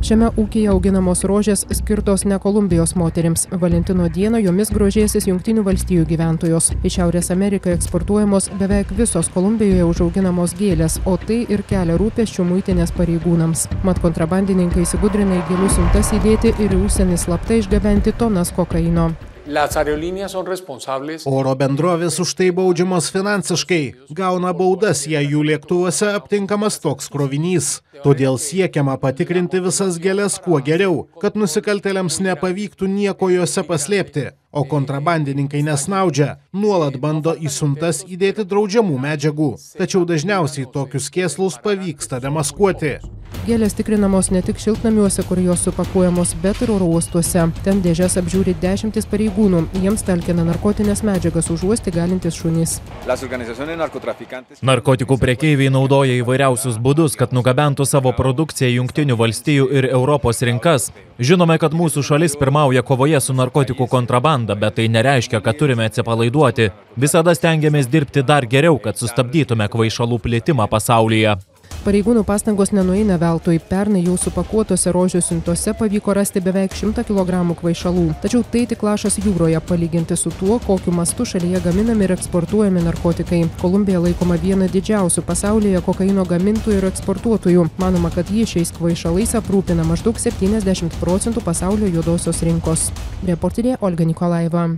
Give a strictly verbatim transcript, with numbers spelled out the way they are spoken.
Šiame ūkyje auginamos rožės skirtos ne Kolumbijos moterims. Valentino dieną jomis grožėsis Jungtinių valstijų gyventojos. Į Šiaurės Ameriką eksportuojamos beveik visos Kolumbijoje užauginamos gėlės, o tai ir kelia rūpesčių muitinės pareigūnams. Mat kontrabandininkai įsigudrina į gėlių siuntas įdėti ir į užsienį slapta išgabenti tonas kokaino. Oro bendrovės už tai baudžiamos finansiškai, gauna baudas, jei jų lėktuvuose aptinkamas toks krovinys. Todėl siekiama patikrinti visas gėles kuo geriau, kad nusikaltėliams nepavyktų nieko juose paslėpti. O kontrabandininkai nesnaudžia, nuolat bando į siuntas įdėti draudžiamų medžiagų. Tačiau dažniausiai tokius kėslus pavyksta demaskuoti. Gėlės tikrinamos ne tik šiltnamiuose, kur jos supakuojamos, bet ir oro uostuose. Ten dėžes apžiūri dešimtis pareigūnų. Jiems talkina narkotinės medžiagas užuosti galintis šunys. Narkotikų prekeiviai naudoja įvairiausius būdus, kad nugabentų savo produkciją Jungtinių valstijų ir Europos rinkas. Žinome, kad mūsų šalis pirmauja kovoje su narkotikų kontrabanda, bet tai nereiškia, kad turime atsipalaiduoti. Visada stengiamės dirbti dar geriau, kad sustabdytume kvaišalų plitimą pasaulyje. Pareigūnų pastangos nenueina veltui. Pernai jau supakuotose rožių siuntose pavyko rasti beveik šimtą kilogramų kvaišalų. Tačiau tai tik lašas jūroje palyginti su tuo, kokiu mastu šalyje gaminami ir eksportuojami narkotikai. Kolumbija laikoma viena didžiausių pasaulyje kokaino gamintojų ir eksportuotojų. Manoma, kad ji šiais kvaišalais aprūpina maždaug septyniasdešimt procentų pasaulio juodosios rinkos. Reporterė Olga Nikolajeva.